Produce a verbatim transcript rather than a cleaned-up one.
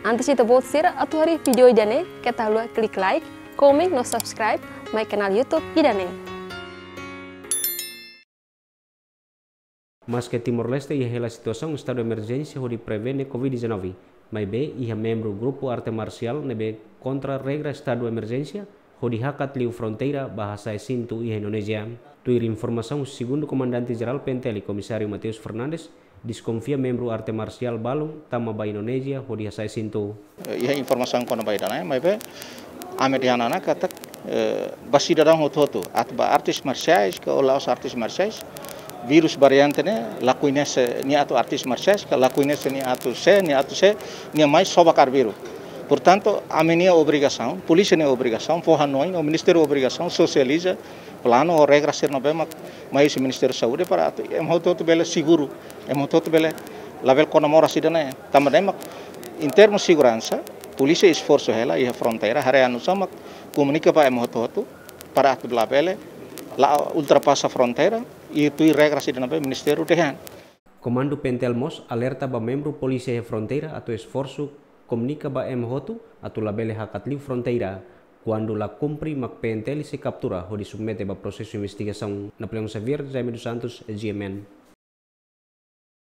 Antes ita-boot sira atu haree vídeo ida-ne'e, keta haluha klik like, komen no subscribe mai kanál YouTube ida-ne'e. Maske Timor-Leste iha hela situasaun estadu emerjénsia hodi prevene covid dezanove, maibé iha membru grupu arte marsiál ne'ebé kontra regra estadu emerjénsia hodi hakat liu fronteira ba hasa'e sintu iha Indonézia. Tuir informasaun husi segundu komandante jerál P N T L, Komisáriu Mateus Fernandes, deskonfia membru arte marsiál balun tama ba Indonézia hodi hasa'e sintu. Eh, iha informasaun kona-ba ida-ne'e, maibé ami dehan ona katak, eh, ba sidadaun hotu-hotu, atu ba artes marsiais ka la'ós artes marsiais, vírus variante ne'e la koñese nia atu artes marsiais ka la koñese nia atu sé, nia atu sé, nia mai só ba kaer vírus. Portantu, ami-nia obrigasaun, polísia nia obrigasaun, fó hanoin, no ministériu obrigasaun sosializa planu ou regra sira ne'ebé mak mai husi Ministériu Saúde para atu ema hotu-hotu bele seguru, ema hotu-hotu bele labele kona moras ida-ne'e. Tanba ne'e mak, em termos seguransa, polísia esforsu hela iha fronteira, haree oinsá mak komunika ba ema hotu-hotu para atu labele la ultrapasa fronteira, i tuir regra sira ne'ebé ministériu dehan. Komandu P N T L mós alerta ba membru polísia iha fronteira atu esforsu komunika ba ema hotu atu labele hakat liu fronteira. Kuandu la kumpre mak P N T L sei kaptura hodi submete ba prosesu investigasaun. Napoleão Xavier, Jaime dos Santos, G M N.